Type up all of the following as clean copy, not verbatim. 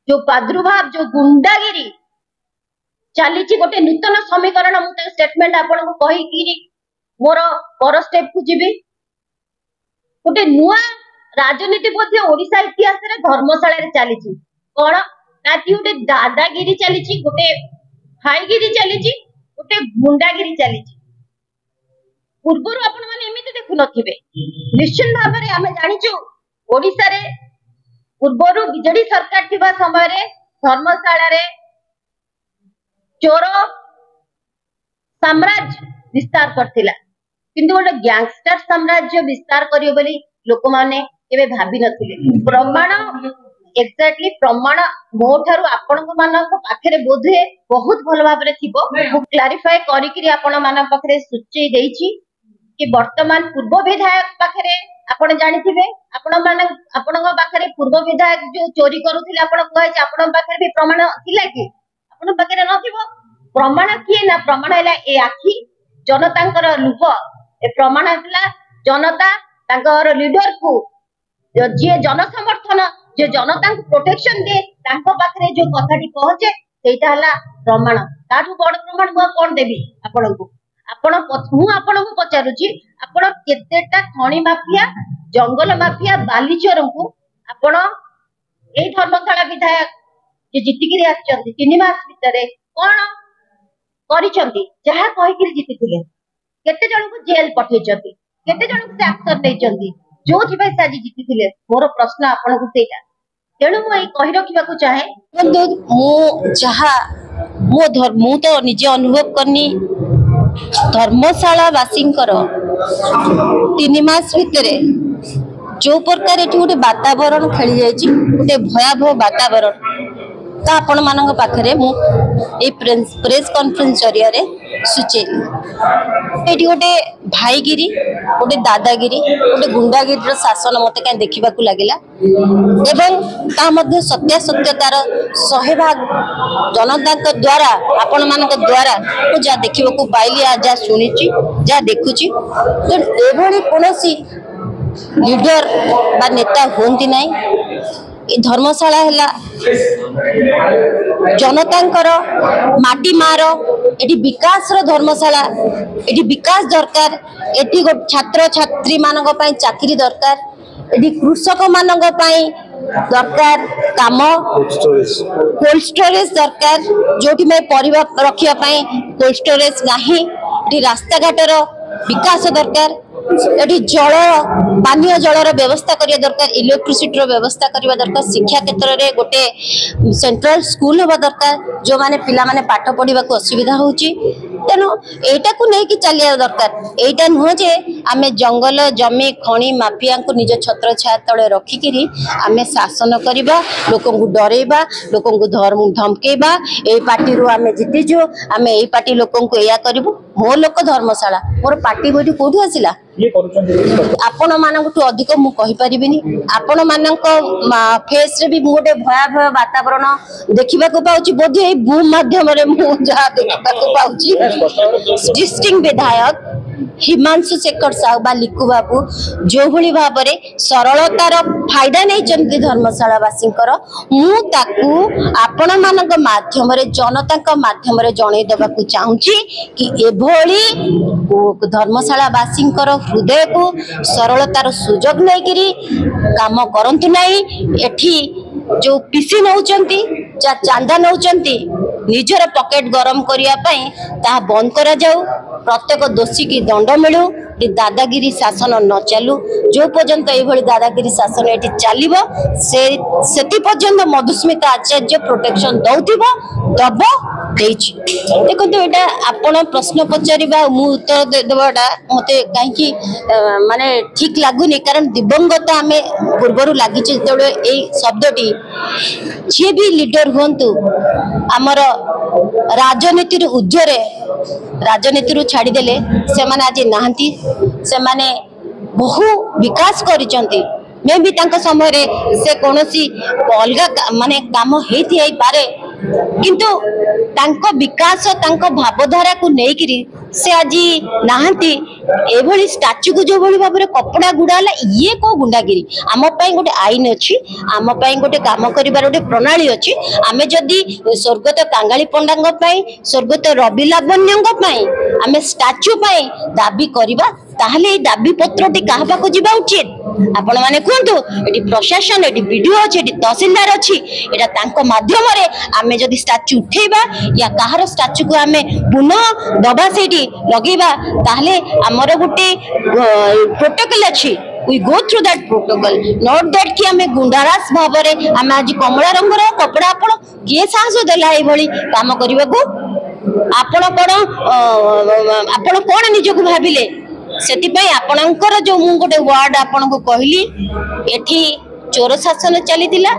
ଯୋଉ ପ୍ରାଦୁର୍ଭାବ, ଯୋଉ ଗୁଣ୍ଡାଗିରି ଚାଲିଛି, ଗୋଟେ ନୂତନ ସମୀକରଣ। ମୁଁ ତା ଷ୍ଟେଟମେଣ୍ଟ ଆପଣଙ୍କୁ କହିକିରି ମୋର ପର ଷ୍ଟେପକୁ ଯିବି। ଗୋଟେ ନୂଆ ରାଜନୀତି ମଧ୍ୟ ଓଡିଶା ଇତିହାସରେ ଧର୍ମଶାଳାରେ ଚାଲିଛି। କଣ ନା ଗୋଟେ ଦାଦାଗିରି ଚାଲିଛି, ଗୋଟେ ଭାଇଗିରି ଚାଲିଛି, ଗୋଟେ ଗୁଣ୍ଡାଗିରି ଚାଲିଛି। ପୂର୍ବରୁ ଆପଣ ମାନେ ଏମିତି ଦେଖୁନଥିବେ। ନିଶ୍ଚିତ ଭାବରେ ଆମେ ଜାଣିଛୁ, ଓଡିଶାରେ ପୂର୍ବରୁ ବିଜେଡି ସରକାର ଥିବା ସମୟରେ ଧର୍ମଶାଳାରେ ଚୋର ସାମ୍ରାଜ୍ୟ ବିସ୍ତାର କରିଥିଲା, କିନ୍ତୁ ଗୋଟେ ଗ୍ୟାଙ୍ଗଷ୍ଟର ସାମ୍ରାଜ୍ୟ ବିସ୍ତାର କରିବ ବୋଲି ଲୋକମାନେ କେବେ ଭାବି ନଥିଲେ। ପ୍ରମାଣ, ଏକ୍ଜାକ୍ଟଲି ପ୍ରମାଣ ମୋ ଠାରୁ ଆପଣଙ୍କ ମାନଙ୍କ ପାଖରେ ବୋଧହୁଏ ବହୁତ ଭଲ ଭାବରେ ଥିବ। ମୁଁ କ୍ଲାରିଫାଏ କରିକିରି ଆପଣ ମାନଙ୍କ ପାଖରେ ସୂଚେଇ ଦେଇଛି କି ବର୍ତ୍ତମାନ ପୂର୍ବ ବିଧାୟକ ପାଖରେ, ଆପଣ ଜାଣିଥିବେ, ଆପଣ ମାନେ ଆପଣଙ୍କ ପାଖରେ ପୂର୍ବ ବିଧାୟକ ଯୋଉ ଚୋରି କରୁଥିଲେ, ଆପଣ କୁହାଯାଇଛି, ଆପଣଙ୍କ ପାଖରେ ବି ପ୍ରମାଣ ଥିଲା କି? ଆପଣଙ୍କ ପାଖରେ ନଥିବ। ପ୍ରମାଣ କିଏ ନା ପ୍ରମାଣ ହେଲା ଏ ଆଖି, ଜନତାଙ୍କର ଲୁହ। ଏ ପ୍ରମାଣ ହେଲା ଜନତା ତାଙ୍କର ଲିଡରକୁ, ଯିଏ ଜନସମର୍ଥନ, ଯିଏ ଜନତାଙ୍କୁ ପ୍ରୋଟେକ୍ସନ ଦିଏ, ତାଙ୍କ ପାଖରେ ଯୋଉ କଥାଟି ପହଞ୍ଚେ ସେଇଟା ହେଲା ପ୍ରମାଣ। ତାଠୁ ବଡ ପ୍ରମାଣ ମୁଁ ଆଉ କଣ ଦେବି ଆପଣଙ୍କୁ? ଆପଣ, ମୁଁ ଆପଣଙ୍କୁ ପଚାରୁଛି, ଆପଣ କେତେଟା ଖଣି ମାଫିଆ, ଜଙ୍ଗଲ ମାଫିଆ, ବାଲିଚୋରଙ୍କୁ ଆପଣ ଏଇ ଧର୍ମଶାଳା ବିଧାୟକ ଯିଏ ଜିତିକିରି ଆସିଛନ୍ତି 3 ମାସ ଭିତରେ କଣ କରିଛନ୍ତି ଯାହା କହିକିରି ଜିତିଥିଲେ? କେତେ ଜଣଙ୍କୁ ଜେଲ ପଠେଇଛନ୍ତି? କେତେ ଜଣଙ୍କୁ ସେ ଆକ୍ସନ ନେଇଛନ୍ତି ଯୋଉଥିପାଇଁ ସେ ଆଜି ଜିତିଥିଲେ? ମୋର ପ୍ରଶ୍ନ ଆପଣଙ୍କୁ ସେଇଟା। ତେଣୁ ମୁଁ ଏଇ କହି ରଖିବାକୁ ଚାହେଁ, ମୁଁ ଯାହା ମୁଁ ତ ନିଜେ ଅନୁଭବ କରିନି, ଧର୍ମଶାଳା ବାସୀଙ୍କର 3 ମାସ ଭିତରେ ଯୋଉ ପ୍ରକାର ଏଠି ଗୋଟେ ବାତାବରଣ ଖେଳି ଯାଇଛି, ଗୋଟେ ଭୟାବହ ବାତାବରଣ, ତ ଆପଣମାନଙ୍କ ପାଖରେ ମୁଁ ଏଇ ପ୍ରେସ୍ କନଫରେନ୍ସ ଜରିଆରେ ସୂଚେଇଲି। ଏଇଠି ଗୋଟେ ଭାଇଗିରି, ଗୋଟେ ଦାଦାଗିରି, ଗୋଟେ ଗୁଣ୍ଡାଗିରିର ଶାସନ ମତେ କାହିଁ ଦେଖିବାକୁ ଲାଗିଲା, ଏବଂ ତା ମଧ୍ୟ ସତ୍ୟାସତ୍ୟତାର 100 ଭାଗ ଜନତାଙ୍କ ଦ୍ୱାରା, ଆପଣମାନଙ୍କ ଦ୍ୱାରା ମୁଁ ଯାହା ଦେଖିବାକୁ ପାଇଲି, ଯାହା ଶୁଣିଛି, ଯାହା ଦେଖୁଛି। ତେଣୁ ଏଭଳି କୌଣସି ଲିଡର ବା ନେତା ହୁଅନ୍ତି ନାହିଁ। ଏ ଧର୍ମଶାଳା ହେଲା ଜନତାଙ୍କର ମାଟି ମାର, ଏଠି ବିକାଶର ଧର୍ମଶାଳା। ଏଠି ବିକାଶ ଦରକାର, ଏଠି ଛାତ୍ରଛାତ୍ରୀ ମାନଙ୍କ ପାଇଁ ଚାକିରି ଦରକାର, ଏଠି କୃଷକ ମାନଙ୍କ ପାଇଁ ଦରକାର କାମ, କୋଲ୍ଡ ଷ୍ଟୋରେଜ ଦରକାର, ଯୋଉଠି ପରିବା ରଖିବା ପାଇଁ କୋଲ୍ଡ ଷ୍ଟୋରେଜ ନାହିଁ। ଏଠି ରାସ୍ତାଘାଟର ବିକାଶ ଦରକାର, ଏଠି ଜଳ, ପାନୀୟ ଜଳର ବ୍ୟବସ୍ଥା କରିବା ଦରକାର, ଇଲେକ୍ଟ୍ରିସିଟିର ବ୍ୟବସ୍ଥା କରିବା ଦରକାର, ଶିକ୍ଷା କ୍ଷେତ୍ରରେ ଗୋଟେ ସେଣ୍ଟ୍ରାଲ ସ୍କୁଲ ହେବା ଦରକାର, ଯୋଉମାନେ ପିଲାମାନେ ପାଠ ପଢିବାକୁ ଅସୁବିଧା ହଉଛି। ତେଣୁ ଏଇଟାକୁ ନେଇକି ଚାଲିବା ଦରକାର। ଏଇଟା ନୁହଁ ଯେ ଆମେ ଜଙ୍ଗଲ ଜମି ଖଣି ମାଫିଆଙ୍କୁ ନିଜ ଛତ୍ରଛାୟା ତଳେ ରଖିକିରି ଆମେ ଶାସନ କରିବା, ଲୋକଙ୍କୁ ଡରେଇବା, ଲୋକଙ୍କୁ ଧମକେଇବା, ଏଇ ପାର୍ଟିରୁ ଆମେ ଜିତିଛୁ, ଆମେ ଏଇ ପାର୍ଟି ଲୋକଙ୍କୁ ଏଇଆ କରିବୁ। ମୋ ଲୋକ ଧର୍ମଶାଳା, ମୋର ପାର୍ଟି ବୈଠି କୋଉଠୁ ଆସିଲା? ଆପଣ ମାନଙ୍କଠୁ ଅଧିକ ମୁଁ କହିପାରିବିନି। ଆପଣ ମାନଙ୍କ ଫେସରେ ବି ମୁଁ ଗୋଟେ ଭୟାବହ ବାତାବରଣ ଦେଖିବାକୁ ପାଉଛି, ବୋଧେ ଏଇ ବୁମ୍ ମାଧ୍ୟମରେ ମୁଁ ଯାହା ଦେଖିବାକୁ ପାଉଛି। ଏକ୍ଜିଷ୍ଟିଂ ବିଧାୟକ ହିମାଂଶୁ ଶେଖର ସାହୁ ବା ଲିକୁ ବାବୁ ଯୋଉଭଳି ଭାବରେ ସରଳତାର ଫାଇଦା ନେଇଛନ୍ତି ଧର୍ମଶାଳାବାସୀଙ୍କର, ମୁଁ ତାକୁ ଆପଣମାନଙ୍କ ମାଧ୍ୟମରେ, ଜନତାଙ୍କ ମାଧ୍ୟମରେ ଜଣେଇ ଦେବାକୁ ଚାହୁଁଛି କି ଏଭଳି ଧର୍ମଶାଳାବାସୀଙ୍କର ହୃଦୟକୁ ସରଳତାର ସୁଯୋଗ ନେଇକିରି କାମ କରନ୍ତୁ ନାହିଁ। ଏଠି ଯୋଉ ପିସି ନଉଛନ୍ତି, ଯାହା ଚାନ୍ଦା ନଉଛନ୍ତି ନିଜର ପକେଟ ଗରମ କରିବା ପାଇଁ, ତାହା ବନ୍ଦ କରାଯାଉ। ପ୍ରତ୍ୟେକ ଦୋଷୀକି ଦଣ୍ଡ ମିଳୁ, ଦାଦାଗିରି ଶାସନ ନ ଚାଲୁ। ଯୋଉ ପର୍ଯ୍ୟନ୍ତ ଏଇଭଳି ଦାଦାଗିରି ଶାସନ ଏଠି ଚାଲିବ, ସେ ସେଥି ପର୍ଯ୍ୟନ୍ତ ମଧୁସ୍ମିତା ଆଚାର୍ଯ୍ୟ ପ୍ରୋଟେକ୍ସନ ଦଉଥିବ, ଦବ, ଦେଇଛି। ଦେଖନ୍ତୁ, ଏଇଟା ଆପଣ ପ୍ରଶ୍ନ ପଚାରିବା ଆଉ ମୁଁ ଉତ୍ତର ଦେବାଟା ମତେ କାହିଁକି ମାନେ ଠିକ ଲାଗୁନି, କାରଣ ଦିବଙ୍ଗତ ଆମେ ପୂର୍ବରୁ ଲାଗିଛି ଯେତେବେଳେ ଏଇ ଶବ୍ଦଟି। ଯିଏ ବି ଲିଡର ହୁଅନ୍ତୁ, ଆମର ରାଜନୀତିରୁ ଉର୍ଦ୍ଧ୍ୱରେ, ରାଜନୀତିରୁ ଛାଡ଼ିଦେଲେ ସେମାନେ ଆଜି ନାହାନ୍ତି। ସେମାନେ ବହୁ ବିକାଶ କରିଛନ୍ତି। ମେ ବି ତାଙ୍କ ସମୟରେ ସେ କୌଣସି ଅଲଗା ମାନେ କାମ ହେଇଥାଇପାରେ, କିନ୍ତୁ ତାଙ୍କ ବିକାଶ, ତାଙ୍କ ଭାବଧାରାକୁ ନେଇକିରି ସେ ଆଜି ନାହାନ୍ତି। ଏଭଳି ଷ୍ଟାଚୁକୁ ଯୋଉଭଳି ଭାବରେ କପଡା ଗୁଡା ହେଲା, ଇଏ କୋଉ ଗୁଣ୍ଡାଗିରି? ଆମ ପାଇଁ ଗୋଟେ ଆଇନ ଅଛି, ଆମ ପାଇଁ ଗୋଟେ କାମ କରିବାର ଗୋଟେ ପ୍ରଣାଳୀ ଅଛି। ଆମେ ଯଦି ସ୍ୱର୍ଗତ କାଙ୍ଗାଳି ପଣ୍ଡାଙ୍କ ପାଇଁ, ସ୍ୱର୍ଗତ ରବି ଲାବଣ୍ୟଙ୍କ ପାଇଁ ଆମେ ଷ୍ଟାଚୁ ପାଇଁ ଦାବି କରିବା, ତାହେଲେ ଏଇ ଦାବି ପତ୍ରଟି କାହା ପାଖକୁ ଯିବା ଉଚିତ ଆପଣ ମାନେ କୁହନ୍ତୁ। ଏଠି ପ୍ରଶାସନ, ଏଠି ବିଡିଓ ଅଛି, ଏଠି ତହସିଲଦାର ଅଛି। ଏଇଟା ତାଙ୍କ ମାଧ୍ୟମରେ ଆମେ ଯଦି ଷ୍ଟାଚୁ ଉଠେଇବା ୟା କାହାର ଷ୍ଟାଚୁକୁ ଆମେ ପୁନଃ ଦବା, ସେଇଠି ଲଗେଇବା, ତାହେଲେ ଆମର ଗୋଟେ ପ୍ରୋଟୋକଲ ଅଛି। We go through that protocol, not that କି ଆମେ ଗୁଣ୍ଡାରାଜ ଭାବରେ ଆମେ ଆଜି କମଳା ରଙ୍ଗର କପଡା। ଆପଣ କିଏ ସାହସ ଦେଲା ଏଇଭଳି କାମ କରିବାକୁ? ଆପଣ କଣ, ଆପଣ କଣ ନିଜକୁ ଭାବିଲେ? ସେଥିପାଇଁ ଆପଣଙ୍କର ଯୋଉ ମୁଁ ଗୋଟେ ୱାର୍ଡ ଆପଣଙ୍କୁ କହିଲି, ଏଠି ଚୋର ଶାସନ ଚାଲିଥିଲା,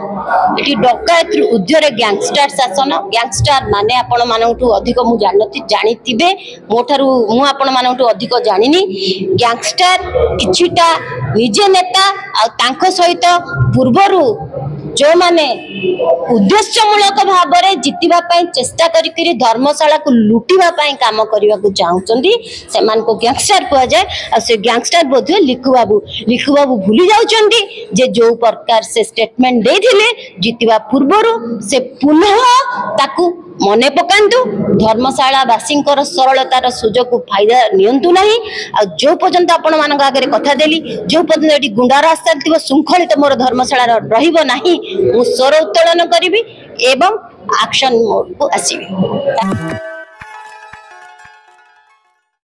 ଏଠି ଡକାୟତରୁ ଉର୍ଦ୍ଧ୍ୱରେ ଗ୍ୟାଙ୍ଗଷ୍ଟାର ଶାସନ। ଗ୍ୟାଙ୍ଗଷ୍ଟାର ମାନେ ଆପଣ ମାନଙ୍କଠୁ ଅଧିକ ମୁଁ ଜାଣିନଥିଲି, ଜାଣିଥିବେ ମୋ ଠାରୁ, ମୁଁ ଆପଣ ମାନଙ୍କଠୁ ଅଧିକ ଜାଣିନି। ଗ୍ୟାଙ୍ଗଷ୍ଟାର କିଛିଟା ନିଜେ ନେତା ଆଉ ତାଙ୍କ ସହିତ ପୂର୍ବରୁ ଯୋଉମାନେ ଉଦ୍ଦେଶ୍ୟମୂଳକ ଭାବରେ ଜିତିବା ପାଇଁ ଚେଷ୍ଟା କରିକିରି ଧର୍ମଶାଳାକୁ ଲୁଟିବା ପାଇଁ କାମ କରିବାକୁ ଚାହୁଁଛନ୍ତି, ସେମାନଙ୍କୁ ଗ୍ୟାଙ୍ଗଷ୍ଟାର କୁହାଯାଏ। ଆଉ ସେ ଗ୍ୟାଙ୍ଗଷ୍ଟାର ବୋଧହୁଏ ଲିକୁ ବାବୁ। ଲିକୁ ବାବୁ ଭୁଲି ଯାଉଛନ୍ତି ଯେ ଯୋଉ ପ୍ରକାର ସେ ଷ୍ଟେଟମେଣ୍ଟ ଦେଇଥିଲେ ଜିତିବା ପୂର୍ବରୁ, ସେ ପୁନଃ ତାକୁ ମନେ ପକାନ୍ତୁ। ଧର୍ମଶାଳା ବାସୀଙ୍କର ସରଳତାର ସୁଯୋଗକୁ ଫାଇଦା ନିଅନ୍ତୁ ନାହିଁ। ଆଉ ଯୋଉ ପର୍ଯ୍ୟନ୍ତ ଆପଣମାନଙ୍କ ଆଗରେ କଥା ଦେଲି, ଯୋଉ ପର୍ଯ୍ୟନ୍ତ ଏଠି ଗୁଣ୍ଡାରାଜ ଚାଲିଥିବ, ଶୃଙ୍ଖଳିତ ମୋର ଧର୍ମଶାଳାର ରହିବ ନାହିଁ, ମୁଁ ସ୍ୱର ଉତ୍ତୋଳନ କରିବି ଏବଂ ଆକ୍ସନ ମୋଡକୁ ଆସିବି।